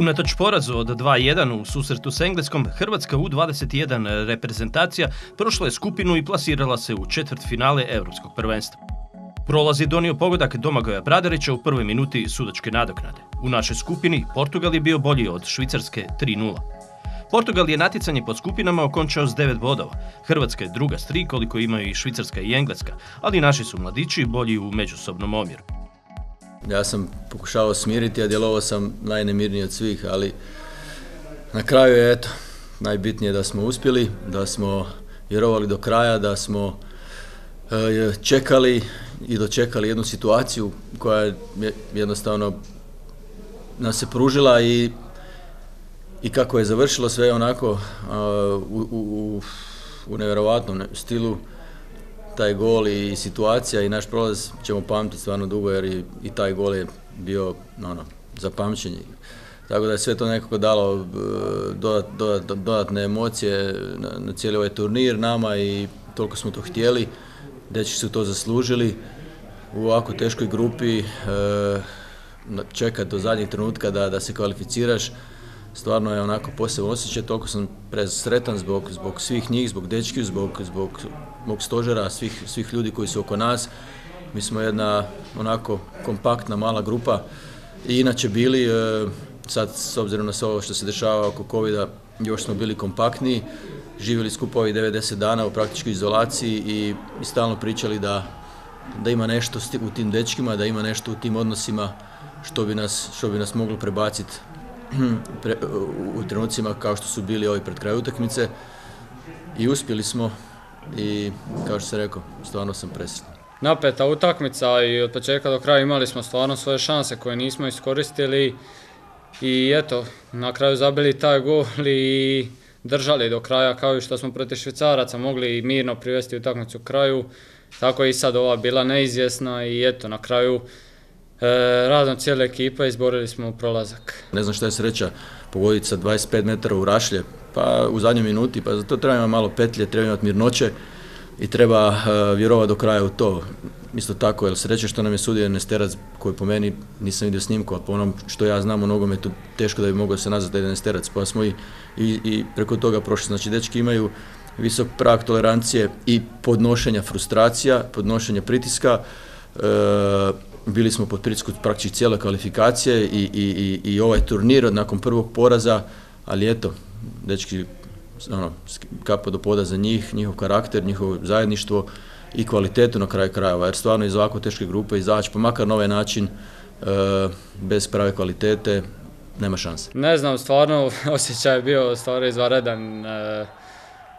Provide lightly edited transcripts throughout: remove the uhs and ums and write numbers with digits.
Unatoč porazu od 2:1 u susretu s Engleskom, Hrvatska U21 reprezentacija prošla je skupinu i plasirala se u četvrtfinale Europskog prvenstva. Prolaz je donio pogodak Domagoja Bradarića u prvoj minuti sudačke nadoknade. U našoj skupini Portugal je bio bolji od Švicarske 3:0. Portugal je natjecanje po skupinama okončao s 9 bodova. Hrvatska je druga s 3 koliko imaju i Švicarska i Engleska, ali naši su mladići bolji u međusobnom omjeru. Ja sam pokušavao smiriti, a djelovao sam najnemirniji od svih, ali na kraju je najbitnije da smo uspjeli, da smo vjerovali do kraja, da smo čekali i dočekali jednu situaciju koja je jednostavno nas se pružila i kako je završilo sve onako u nevjerovatnom stilu. Taj gol i situacija i naš prolaz ćemo pamtiti stvarno dugo jer i taj gol je bio za pamćenje. Tako da je sve to nekako dalo dodatne emocije na cijeli ovaj turnir nama i toliko smo to htjeli. Dečki su to zaslužili u ovako teškoj grupi, čekati do zadnjeg trenutka da se kvalificiraš. Stvarno je onako poseban osjećaj, toliko sam presretan zbog svih njih, zbog dečki, zbog mog stožera, svih ljudi koji su oko nas. Mi smo jedna onako kompaktna mala grupa i inače bili, sad s obzirom na sve ovo što se dešava oko covida, još smo bili kompaktniji, živjeli skupa ovih 90 dana u praktičkoj izolaciji i stalno pričali da ima nešto u tim dečkima, da ima nešto u tim odnosima što bi nas moglo prebaciti u trenucima kao što su bili ovi pred kraj utakmice i uspjeli smo i kao što sam rekao, stvarno sam presretan. Napeta utakmica i od početka do kraja imali smo stvarno svoje šanse koje nismo iskoristili i eto, na kraju zabili taj gol i držali do kraja kao i što smo protiv Švicaraca mogli mirno privesti utakmicu kraju, tako je i sad ova bila neizvjesna i eto, na kraju radom cijele ekipe izborili smo prolazak. Ne znam šta je sreća pogoditi sa 25 metara u rašlje, pa u zadnjoj minuti, pa za to treba imati malo petlje, treba imati mirnoće i treba vjerovati do kraja u to. Isto tako, jer sreće što nam je sudio Nesterac, koji po meni nisam vidio snimku, a po onom što ja znam o nogometu, teško da bi mogao se nazvati da je Nesterac, pa smo i preko toga prošli. Znači, dečki imaju visok prag tolerancije i podnošenja frustracija, podnošenja pritiska. Bili smo pod pritiskom praktički cijele kvalifikacije i ovaj turnir nakon prvog poraza, ali eto, dečki, kapa do poda za njih, njihov karakter, njihovo zajedništvo i kvalitetu na kraju krajeva, jer stvarno iz ovako teške grupe izaći, pa makar na ovaj način, bez prave kvalitete, nema šanse. Ne znam, stvarno osjećaj je bio stvarno izvanredan.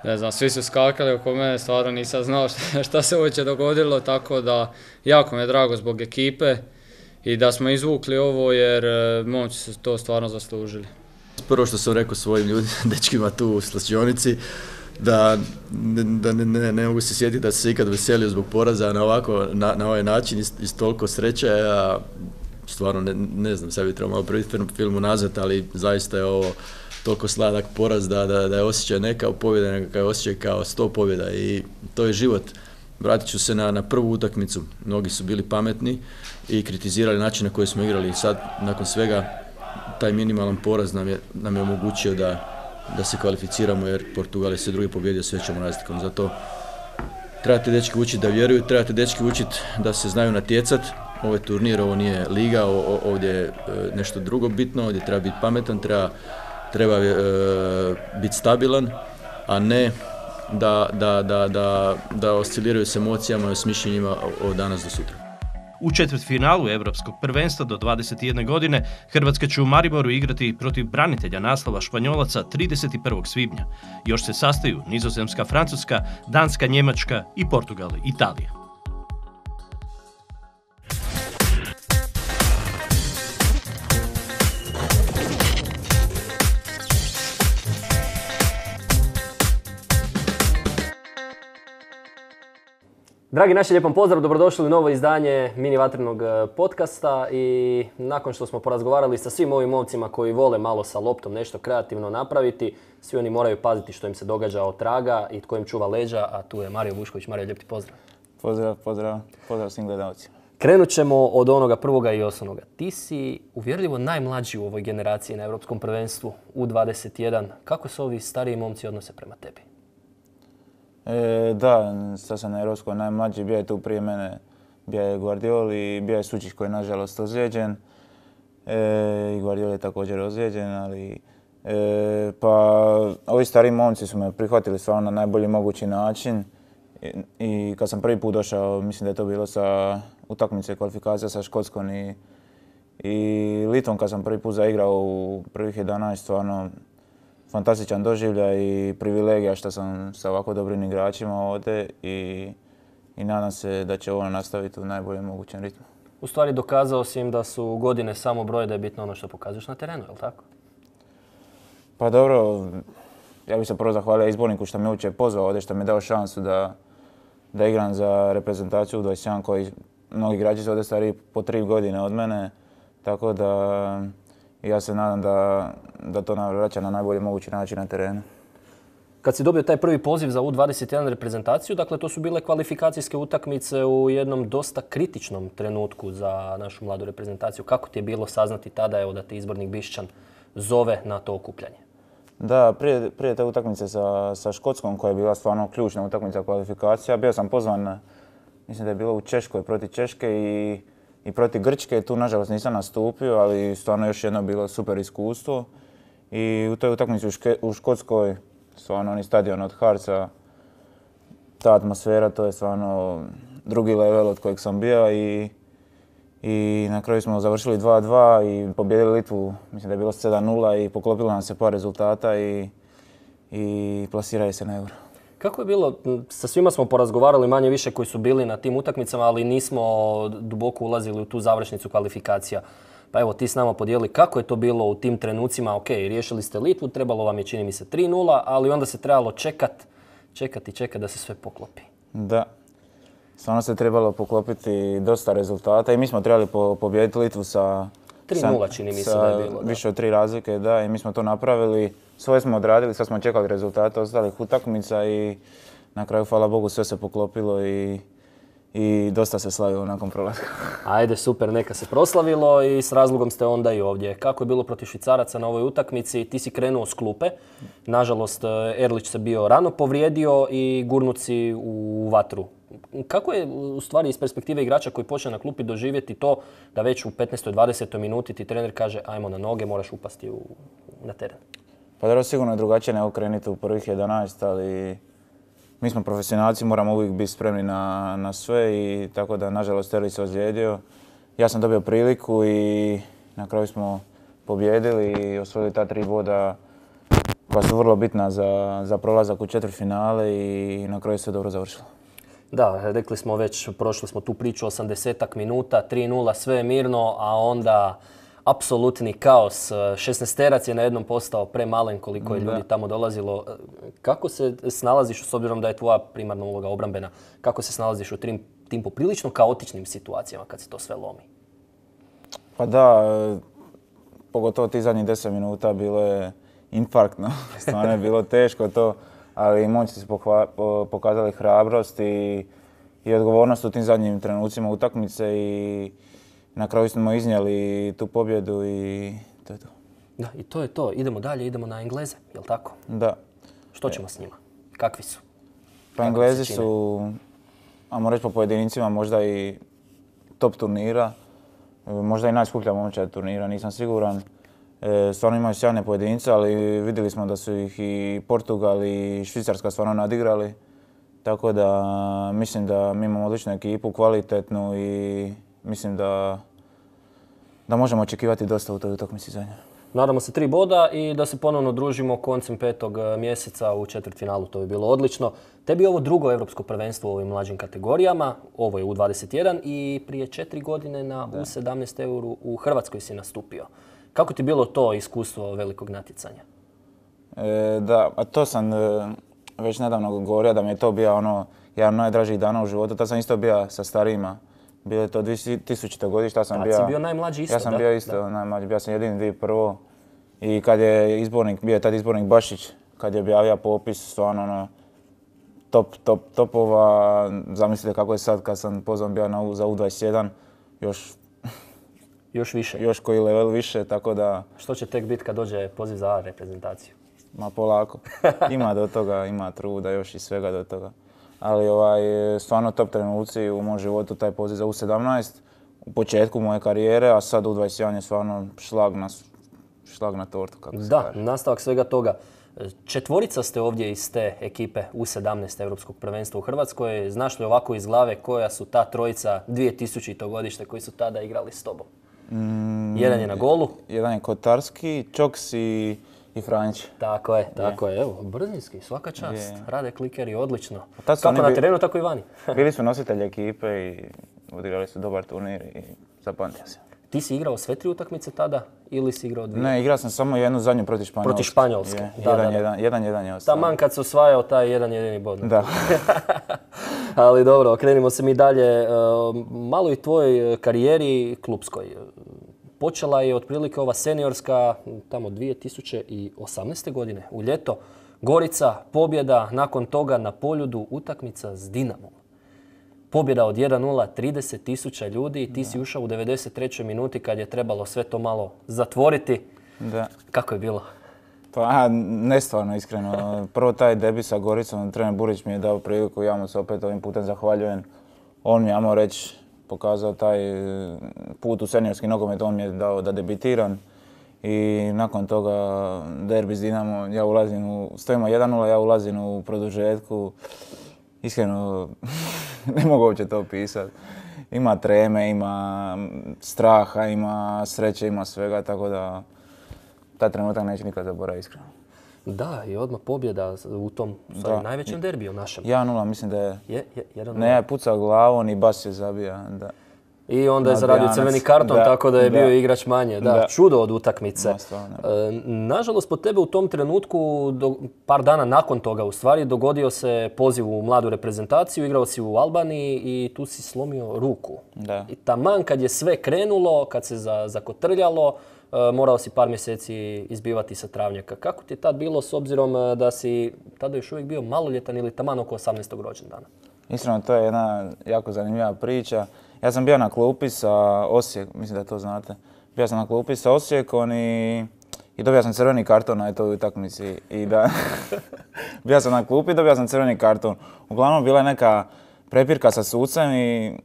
Ne znam, svi su skakali oko mene, stvarno nisam znao šta se uopće dogodilo, tako da jako mi je drago zbog ekipe i da smo izvukli ovo jer momci su to stvarno zaslužili. Prvo što sam rekao svojim ljudima, dečkima tu u slačionici, da ne mogu se sjetiti da se ikad veselio zbog poraza na ovaj način iz toliko sreće. Ja stvarno ne znam, sad bi trebao malo prvi film unazad, ali zaista je ovo toliko sladak poraz da je osjećaj ne kao pobjeda, nego je osjećaj kao 100 pobjeda i to je život. Vratit ću se na prvu utakmicu. Mnogi su bili pametni i kritizirali način na koji smo igrali i sad nakon svega taj minimalan poraz nam je omogućio da se kvalificiramo jer Portugal je sve drugi pobjedio s većom razlikom. Zato trebate dečki učiti da vjeruju, trebate dečki učiti da se znaju natjecati. Ovo je turnir, ovo nije liga, ovdje je nešto drugo bitno, ovdje treba biti pametan, treba biti stabilan, a ne da osciliraju s emocijama i s mišljenjima od danas do sutra. U četvrtfinalu Europskog prvenstva do 21 godine Hrvatska će u Mariboru igrati protiv branitelja naslova Španjolaca 31. svibnja. Još se sastaju Nizozemska, Francuska, Danska, Njemačka i Portugal, Italija. Dragi naši, lijepom pozdrav, dobrodošli u novo izdanje mini vatrenog podcasta i nakon što smo porazgovarali sa svim ovim momcima koji vole malo sa loptom nešto kreativno napraviti, svi oni moraju paziti što im se događa od traga i tko im čuva leđa, a tu je Mario Vušković. Mario, lijep ti pozdrav. Pozdrav svim gledalcima. Krenut ćemo od onoga prvoga i osnovnoga. Ti si uvjerljivo najmlađi u ovoj generaciji na Europskom prvenstvu U21. Kako se ovi stariji momci odnose prema tebi? Da, sad sam na Europskoj najmlađi, bio je tu prije mene, bio je Guardioli i bio je Sučić koji je nažalost ozlijeđen. I Guardioli je također ozlijeđen, ali pa ovi stariji momci su me prihvatili stvarno na najbolji mogući način. I kad sam prvi put došao, mislim da je to bilo sa utakmice kvalifikacija sa Škotskom i Litvom, kad sam prvi put zaigrao u prvih 11, stvarno fantastičan doživljaj i privilegija što sam sa ovako dobrim igračima ovdje i nadam se da će ovo nastaviti u najboljem mogućem ritmu. U stvari dokazao si im da su godine samo broj, da je bitno ono što pokazuješ na terenu, je li tako? Pa dobro, ja bih se prvo zahvalio izborniku što me uopće pozvao ovdje, što mi je dao šansu da igram za reprezentaciju U21 koji mnogi igrači su ovdje stariji po 3 godine od mene, tako da ja se nadam da to vraća na najbolji mogući način na terenu. Kad si dobio taj prvi poziv za U21 reprezentaciju, dakle to su bile kvalifikacijske utakmice u jednom dosta kritičnom trenutku za našu mladu reprezentaciju. Kako ti je bilo saznati tada evo, da te izbornik Bišćan zove na to okupljanje? Da, prije te utakmice sa Škotskom koja je bila stvarno ključna utakmica kvalifikacija, bio sam pozvan, mislim da je bilo u Češkoj protiv Češke i protiv Grčke. Tu nažalost nisam nastupio, ali stvarno još jedno bilo super iskustvo. I u toj utakmici u Škotskoj, stvarno oni stadion od Harca, ta atmosfera, to je stvarno drugi level od kojeg sam bio i na kraju smo završili 2-2 i pobijedili Litvu, mislim da je bilo 7-0 i poklopilo nam se par rezultata i plasiraju se na Euro. Kako je bilo, sa svima smo porazgovarali manje više koji su bili na tim utakmicama, ali nismo duboko ulazili u tu završnicu kvalifikacija. Pa evo, ti s nama podijeli kako je to bilo u tim trenucima. Ok, riješili ste Litvu, trebalo vam je čini mi se 3-0, ali onda se trebalo čekati da se sve poklopi. Da, stvarno se trebalo poklopiti dosta rezultata i mi smo trebali pobijediti Litvu sa 3-0 čini mi se da je bilo. Više od 3 razlike, da, i mi smo to napravili. Svoje smo odradili, sad smo čekali rezultate ostalih utakmica i na kraju, hvala Bogu, sve se poklopilo i dosta se slavilo nakon prolaska. Ajde, super, neka se proslavilo i s razlogom ste onda i ovdje. Kako je bilo protiv Švicaraca na ovoj utakmici? Ti si krenuo s klupe. Nažalost, Erlić se bio rano povrijedio i gurnuci u vatru. Kako je u stvari iz perspektive igrača koji počne na klupi doživjeti to da već u 15. 20. minuti ti trener kaže ajmo na noge, moraš upasti na teren? Pa dobro, sigurno je drugačije nego krenuti u prvih 11, ali mi smo profesionalci, moramo uvijek biti spremni na sve i tako da nažalost Erlić se ozlijedio. Ja sam dobio priliku i na kraju smo pobijedili i osvojili ta 3 boda koja su vrlo bitna za prolazak u četvrtfinale i na kraju sve dobro završilo. Da, rekli smo već, prošli smo tu priču 80 minuta, 3-0, sve je mirno, a onda apsolutni kaos. 16-terac je na jednom postao premalen koliko je ljudi tamo dolazilo. Kako se snalaziš, s obzirom da je tvoja primarna uloga obrambena, kako se snalaziš u tim poprilično kaotičnim situacijama kad se to sve lomi? Pa da, pogotovo ti zadnjih 10 minuta bilo je infarktno. Stvarno je bilo teško to, ali momci su pokazali hrabrost i odgovornost u tim zadnjim trenucima utakmice i na kraju smo iznijeli tu pobjedu i to je to. Da, i to je to. Idemo dalje, idemo na Engleze, jel' tako? Da. Što ćemo s njima? Kakvi su? Pa Englezi su, ajmo reći po pojedincima, možda i top turnira. Možda i najskuplja momčad turnira, nisam siguran. Stvarno imaju sjajne pojedince, ali vidjeli smo da su ih i Portugal i Švicarska stvarno nadigrali. Tako da mislim da mi imamo odličnu ekipu, kvalitetnu i mislim da možemo očekivati dosta u toj utakmici za nje. Nadamo se 3 boda i da se ponovno družimo koncem 5. mjeseca u četvrtfinalu, to bi bilo odlično. Tebi je ovo drugo europsko prvenstvo u ovim mlađim kategorijama, ovo je U21 i prije 4 godine na U17 Euru u Hrvatskoj si nastupio. Kako ti bilo to iskustvo velikog natjecanja? Da, a to sam već nedavno govorio da mi je to bio jedan od najdražih dana u životu. Tad sam isto bio sa starijima. Bilo je to 2000. godište, ja sam bio... Tad si bio najmlađi isto, da? Ja sam bio isto najmlađi, bio sam jedini 2001. I kad je bio je tad izbornik Bašić, kad je objavio popis, stvarno topova. Zamislite kako je sad kad sam pozvan bio za U21. Još više. još koji level više, tako da... Što će tek biti kad dođe poziv za A reprezentaciju? Ma polako. Ima do toga, ima truda, još i svega do toga. Ali stvarno top trenuci u mom životu, taj poziv za U17 u početku moje karijere, a sad U21 je stvarno šlag na tortu, kako se kaže. Da, nastavak svega toga. Četvorica ste ovdje iz te ekipe U17 Europskog prvenstva u Hrvatskoj. Znaš li ovako iz glave koja su ta trojica 2000. godište koji su tada igrali s tobom? Jedan je na golu. Jedan je Kotarski, Čoks i Franjić. Tako je. Evo, brzinski, svaka čast. Rade klikeri, odlično. Tad su Kako oni na terenu, tako i vani. Bili su nositelji ekipe i odigrali su dobar turnir i zapamtio se. Ti si igrao sve 3 utakmice tada ili si igrao 2? Ne, igrao sam samo jednu zadnju protiv Španjolske. Protiv Španjolske, Jedan je ostao. Taman kad se osvajao taj jedan jedini bod. Da. Ali dobro, okrenimo se mi dalje. Malo i tvojoj karijeri klupskoj. Počela je otprilike ova seniorska tamo 2018. godine, u ljeto. Gorica, pobjeda, nakon toga na Poljudu utakmica s Dinamom. Pobjeda od 1-0, 30.000 ljudi i ti si ušao u 93. minuti kad je trebalo sve to malo zatvoriti. Da. Kako je bilo? Pa nestvarno, iskreno. Prvo taj debi sa Goricom, trener Burić mi je dao priliku, ja mu se opet ovim putem zahvaljujem. On mi je, ajmo reći, pokazao taj put u seniorski nogomet, on mi je dao da debitiram. I nakon toga derbi s Dinamo, stojimo 1-0, ja ulazim u produžetku. Iskreno, ne mogu uopće to opisati. Ima treme, ima straha, ima sreće, ima svega, tako da taj trenutak neću nikad zaboraviti, iskreno. Da, i odmah pobjeda u tom najvećem derbiju našem. 1-0, mislim da je... 1-0. Ne, je pucao glavom i Bas je zabija, da. I onda je zaradio crveni karton, tako da je bio igrač manje. Da, čudo od utakmice. Nažalost, po tebe u tom trenutku, par dana nakon toga u stvari, dogodio se poziv u mladu reprezentaciju, igrao si u Albaniji i tu si slomio ruku. Da. I taman kad je sve krenulo, kad se zakotrljalo, morao si par mjeseci izbivati sa travnjaka. Kako ti je tad bilo s obzirom da si tada još uvijek bio maloljetan ili taman oko 18. rođendana? Iskreno, to je jedna jako zanimljiva priča. Ja sam bio na klupi sa Osijekom, mislim da to znate. Bio sam na klupi sa Osijekom i dobio sam crveni karton na toj utakmici. Bio sam na klupi i dobio sam crveni karton. Uglavnom bila je neka prepirka sa sucem i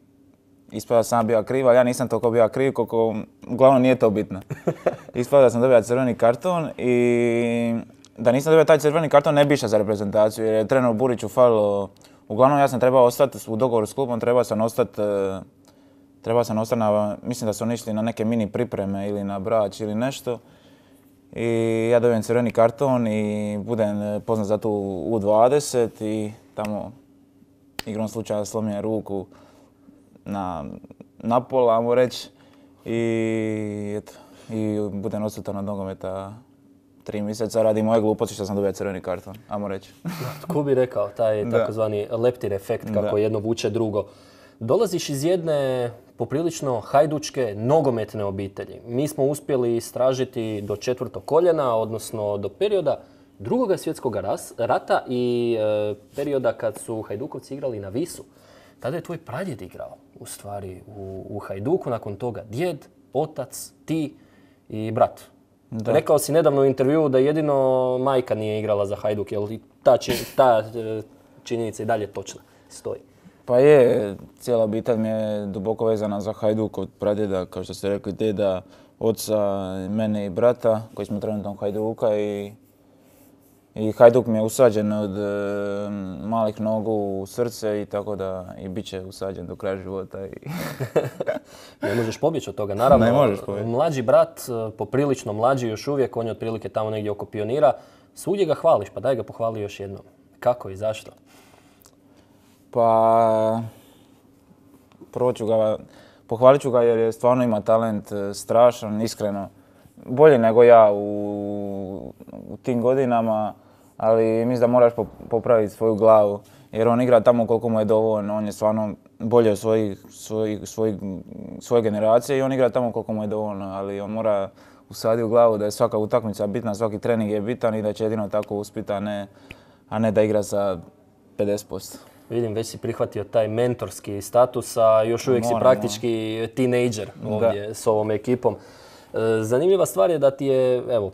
ispada sam bio kriv, ali ja nisam toliko bio kriv, koliko uglavnom nije to bitno. Ispada da sam dobio crveni karton i da nisam dobio taj crveni karton ne bi išao za reprezentaciju jer je trener Buriću falilo. Uglavnom ja sam trebao ostati u dogovoru s klubom, trebao sam ostati mislim da su oni išli na neke mini pripreme ili na Brač ili nešto. I ja dobijem crveni karton i budem poznat za tu U20 i tamo igrom slučaja slomim ruku na pola, ajmo reći. I budem odsutan od nogometa 3 mjeseca radi moje gluposti što sam dobio crveni karton, ajmo reći. Tko bi rekao, taj takozvani leptir efekt kako jedno vuče drugo. Dolaziš iz jedne poprilično hajdučke nogometne obitelji. Mi smo uspjeli istražiti do 4. koljena, odnosno do perioda Drugog svjetskog rata i perioda kad su Hajdukovci igrali na Visu. Tada je tvoj pradjed igrao u stvari u Hajduku, nakon toga djed, otac, ti i brat. Da. Rekao si nedavno u intervjuu da jedino majka nije igrala za Hajduk, jel ta činjenica i dalje točna stoji? Pa je, cijela obitelj mi je duboko vezana za Hajduk od pradjeda, kao što ste rekli, djeda, oca, mene i brata, koji smo trenutno u Hajduka i Hajduk mi je usađen od malih nogu u srce i tako da i bit će usađen do kraja života. Ne možeš pobjeći od toga, naravno. Ne možeš pobjeći. Mlađi brat, poprilično mlađi još uvijek, on je otprilike tamo negdje oko pionira. Svugdje ga hvališ, pa daj ga pohvali još jednom. Kako i zašto? Pa, pohvalit ću ga jer je stvarno ima talent strašan, iskreno. Bolje nego ja u tim godinama, ali mislim da moraš popraviti svoju glavu. Jer on igra tamo koliko mu je dovoljno, on je stvarno bolje od svoje generacije i on igra tamo koliko mu je dovoljno. Ali on mora usaditi u glavu da je svaka utakmica bitna, svaki trening je bitan i da će jedino tako uspjeti, a ne da igra sa 50%. Vidim, već si prihvatio taj mentorski status, a još uvijek si praktički tinejdžer ovdje s ovom ekipom. Zanimljiva stvar je da ti je, evo,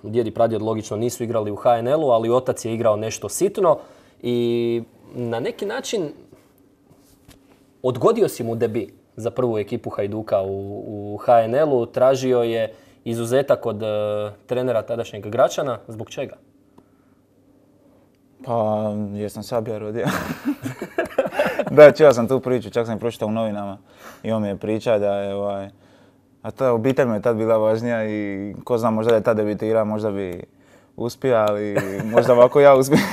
djed i pradjed logično nisu igrali u HNL-u, ali otac je igrao nešto sitno i na neki način odgodio si mu debi za prvu ekipu Hajduka u HNL-u. Tražio je izuzetak od trenera tadašnjeg Gračana. Zbog čega? Pa, jer sam Sabija rodio. Da, čuo sam tu priču, čak sam je pročitao u novinama. I on mi je pričao da je a ta obitelj mi je tad bila važnija i ko zna, možda da je tad debitirao, možda bi uspio, ali možda ovako ja uspijem.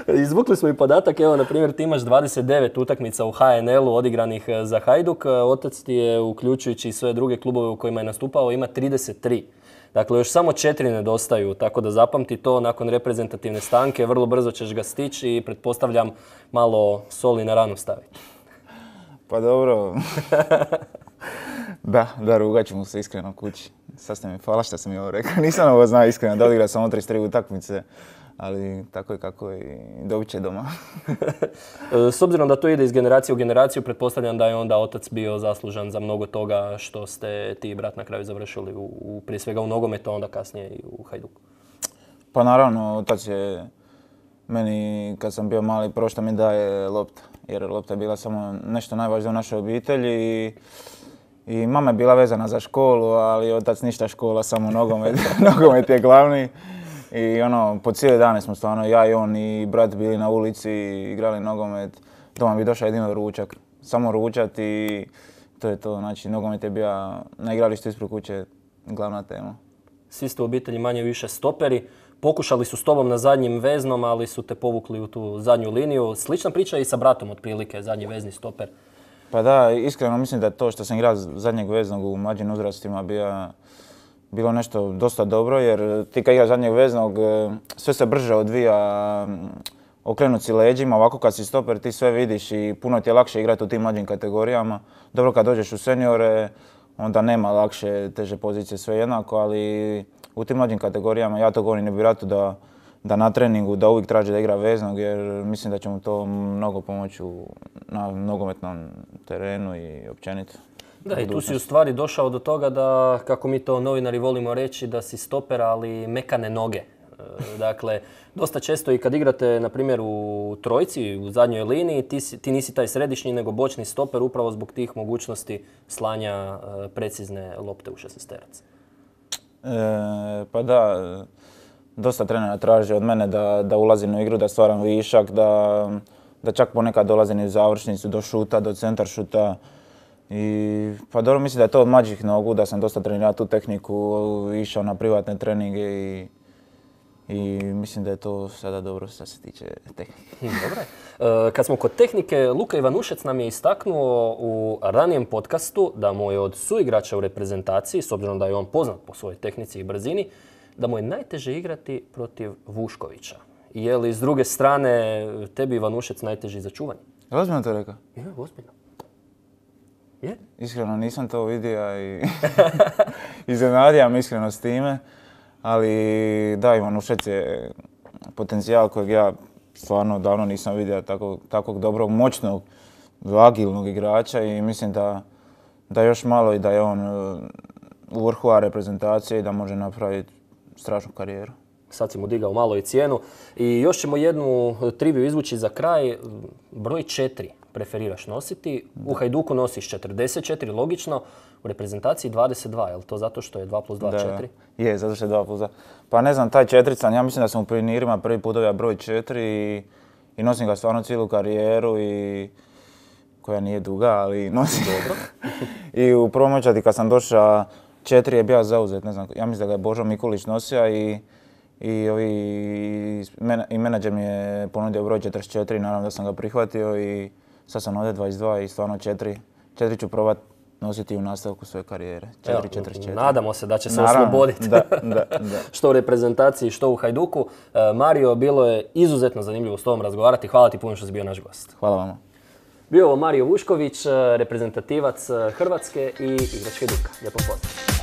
Izvukli smo i podatak, evo, na primjer, ti imaš 29 utakmica u HNL-u odigranih za Hajduk. Otac ti je, uključujući sve druge klubove u kojima je nastupao, ima 33. Dakle, još samo 4 nedostaju, tako da zapamti to nakon reprezentativne stanke. Vrlo brzo ćeš ga stići i pretpostavljam malo soli na ranu staviti. Pa dobro. Da, rugat ću mu se iskreno kući. Sad ste mi, hvala što sam mi ovo rekao. Nisam ovo znao iskreno, da odigrao sam 33 utakmice. Ali tako je kako je i dobit će doma. S obzirom da to ide iz generacije u generaciju, pretpostavljam da je onda otac bio zaslužan za mnogo toga što ste ti i brat na kraju završili prije svega u nogometu, a onda kasnije i u Hajduku. Pa naravno, otac je meni kad sam bio mali prvo što mi daje lopta. Jer lopta je bila samo nešto najvažnije u našoj obitelji i mama je bila vezana za školu, ali otac ništa škola, samo nogomet. Nogomet je glavni. I po cijele dane smo stvarno, ja i on i brat bili na ulici, igrali nogomet. Doma bi došao jedino ručak, samo ručat i to je to. Znači, nogomet je bio na igralištu ispred kuće glavna tema. Svi ste u obitelji manje više stoperi. Pokušali su s tobom na zadnjim veznom, ali su te povukli u tu zadnju liniju. Slična priča i sa bratom otprilike, zadnji vezni stoper. Pa da, iskreno mislim da je to što sam igrao zadnjeg veznog u mlađim uzrastima bilo nešto dosta dobro, jer ti kad igraš zadnjeg veznog, sve se brže odvija, okrenut si leđima, ovako kad si stoper ti sve vidiš i puno ti je lakše igrati u tim mlađim kategorijama. Dobro, kad dođeš u seniore, onda nema lakše, teže pozicije, sve jednako, ali u tim mlađim kategorijama, ja to govorim i bratu da na treningu, da uvijek traži da igra veznog, jer mislim da će mu to mnogo pomoći na nogometnom terenu i općenito. Da, i tu si u stvari došao do toga da, kako mi to novinari volimo reći, da si stoper, ali mekane noge. Dakle, dosta često i kad igrate, na primjer, u trojci, u zadnjoj liniji, ti nisi taj središnji, nego bočni stoper upravo zbog tih mogućnosti slanja precizne lopte u šestesterac. Pa da, dosta trenera traži od mene da ulazim u igru, da stvaram višak, da čak ponekad dolazim u završnicu, do šuta, do centar šuta. I pa dobro, mislim da je to od mlađih nogu, da sam dosta trenirao tu tehniku, išao na privatne treninge i mislim da je to sada dobro što se tiče tehnike. Dobro. Kad smo kod tehnike, Luka Ivanušec nam je istaknuo u ranijem podcastu da mu je od suigrača u reprezentaciji, s obzirom da je on poznat po svojoj tehnici i brzini, da mu je najteže igrati protiv Vuškovića. Je li s druge strane tebi Ivanušec najteži za čuvanje? Je ozbiljno to rekao? Je, ozbiljno. Je? Iskreno nisam to vidio i iznenadio me iskreno s time, ali da, Ivanušec je potencijal kojeg ja stvarno davno nisam vidio, takvog dobrog, moćnog, agilnog igrača i mislim da još malo i da je on u vrhu reprezentacije i da može napraviti strašnu karijeru. Sad si mu digao malo i cijenu. I još ćemo jednu triviju izvući za kraj. Broj 4 preferiraš nositi. U Hajduku nosiš 44, logično. U reprezentaciji 22, je li to zato što je 2 plus 2, 4? Je, zato što je 2 plus 2. Pa ne znam, taj četirican, ja mislim da sam u pionirima prvi put dobio broj 4 i nosim ga stvarno cijelu karijeru i koja nije duga, ali nosim. Dobro. I u prvom očati kad sam došao, 4 je bio zauzet, ne znam, ja mislim da ga je Božo Mikulić nosio i menadžer mi je ponudio broj 44, naravno da sam ga prihvatio i sad sam ovdje 22 i stvarno 4 ću probati nositi u nastavku svoje karijere. 4-4-4. Nadamo se da će se osloboditi. Da. Što u reprezentaciji, što u Hajduku. Mario, bilo je izuzetno zanimljivo s tobom razgovarati. Hvala ti puno što si bio naš gost. Hvala vama. Bio ovo Mario Vušković, reprezentativac Hrvatske i igrač Hajduka. Lijepo pozdrav.